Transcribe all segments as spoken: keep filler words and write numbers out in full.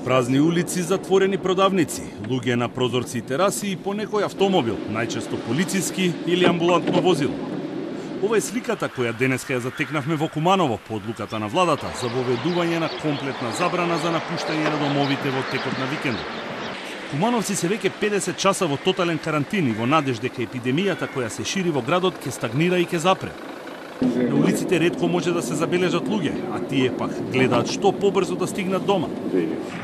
Празни улици, затворени продавници, луѓе на прозорци и тераси и по некој автомобил, најчесто полициски или амбулантно возило. Ова е сликата која денеска ја затекнавме во Куманово по одлуката на владата за воведување на комплетна забрана за напуштање на домовите во текот на викендот. Кумановци се веќе педесет часа во тотален карантин и во надеж дека епидемијата која се шири во градот ќе стагнира и ќе запре. На улиците ретко може да се забележат луѓе, а тие пак гледаат што побрзо да стигнат дома.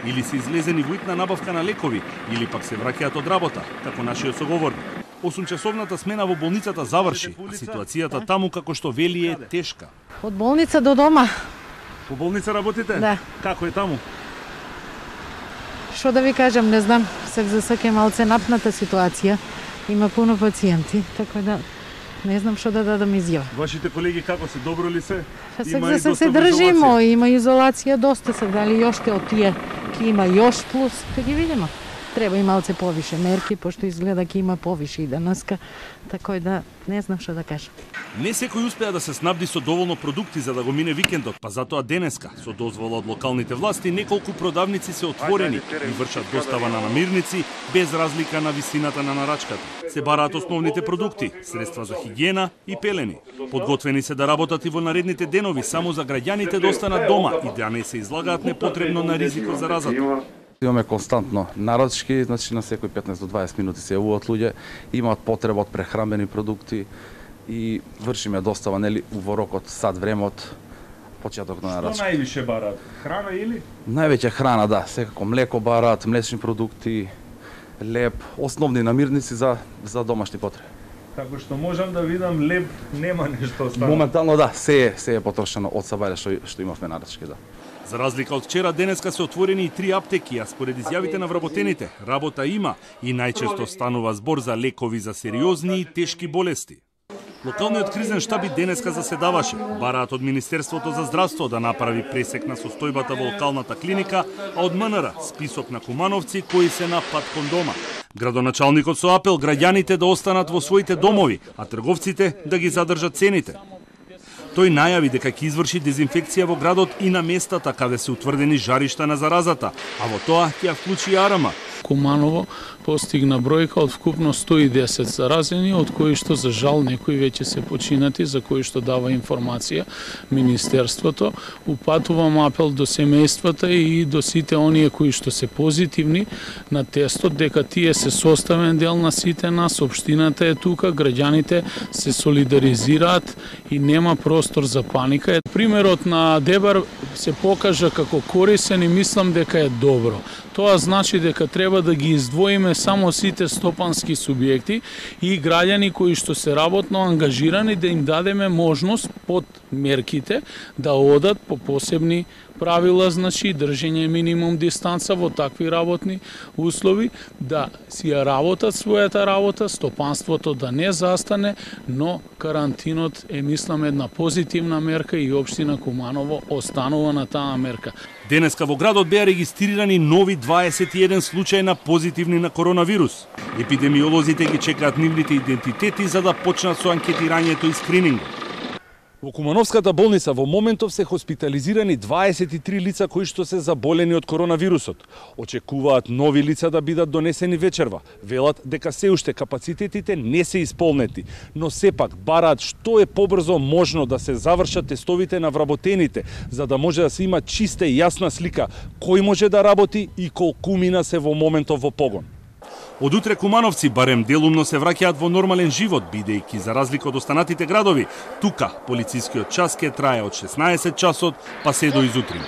Или се излезени во итна набавка на лекови, или пак се враќаат од работа, како нашиот соговорник. осумчасовната смена во болницата заврши, а ситуацијата таму, како што вели, е тешка. Од болница до дома. По болница работите? Да. Како е таму? Што да ви кажам, не знам, сак за сак е малце напната ситуација. Има пуно пациенти, така да не знам што да дадам изјава. Вашите колеги како се, добро ли се? Сак за сак се држимо, има изолација доста, се дали јоште од тие ќе има још плюс, ќе ги видиме. Треба и малце повише мерки, пошто изгледа ќе има повише и денеска, така да не знам што да кажам. Не секој успеа да се снабди со доволно продукти за да го мине викендот, па затоа денеска, со дозвола од локалните власти, неколку продавници се отворени и вршат достава на намирници без разлика на висината на нарачката. Се бараат основните продукти, средства за хигиена и пелени. Подготвени се да работат и во наредните денови само за граѓаните да останат дома и да не се излагаат непотребно на ризикот за заразата. Имаме константно нарачки, значи на секој петнаесет до дваесет минути се јавуваат луѓе, имаат потреба од прехранбени продукти и вршиме достава нели во рокот сат време од почеток на нарачки. Што највише бараат? Храна или? Највеќе храна, да, секако млеко бараат, млечни продукти, леб, основни намирници за за домашни потреби. Како што можам да видам, леб нема нешто останало. Моментално да, се е се е потрошено од сабајле што што имавме нарачки, да. За разлика од вчера, денеска се отворени и три аптеки, а според изјавите на вработените, работа има и најчесто станува збор за лекови за сериозни и тешки болести. Локалниот кризен штаб и денеска заседаваше. Бараат од Министерството за здравство да направи пресек на состојбата во локалната клиника, а од МНР список на кумановци кои се на пат кон дома. Градоначалникот со апел граѓаните да останат во своите домови, а трговците да ги задржат цените. Тој најави дека ќе изврши дезинфекција во градот и на местата каде се утврдени жаришта на заразата, а во тоа ќе ја вклучи и Арама. Куманово постигна бројка од вкупно сто и десет заразени, од кои што за жал некои веќе се починати, за кои што дава информација Министерството. Упатувам апел до семејствата и до сите оние кои што се позитивни на тестот, дека тие се составен дел на сите нас, општината е тука, граѓаните се солидаризираат и нема простор за паника. Примерот на Дебар се покажа како корисен и мислам дека е добро. Тоа значи дека треба да ги издвоиме само сите стопански субјекти и граѓани кои што се работно ангажирани, да им дадеме можност под мерките да одат по посебни правила, значи држење минимум дистанца во такви работни услови, да си ја работат својата работа, стопанството да не застане, но карантинот е, мислам, една позитивна мерка и општина Куманово останува на таа мерка. Денеска во градот беа регистрирани нови дваесет и еден случаи на позитивни на коронавирус. Епидемиолозите ги чекаат нивните идентитети за да почнат со анкетирањето и скринингот. Во Кумановската болница во моментов се хоспитализирани дваесет и три лица кои што се заболени од коронавирусот. Очекуваат нови лица да бидат донесени вечерва. Велат дека се уште капацитетите не се исполнети, но сепак бараат што е побрзо можно да се завршат тестовите на вработените, за да може да се има чиста и јасна слика кој може да работи и колкумина се во моментов во погон. Од утре кумановци барем делумно се враќаат во нормален живот, бидејќи за разлика од останатите градови, тука полицискиот час ќе трае од шеснаесет часот па се до изутрин.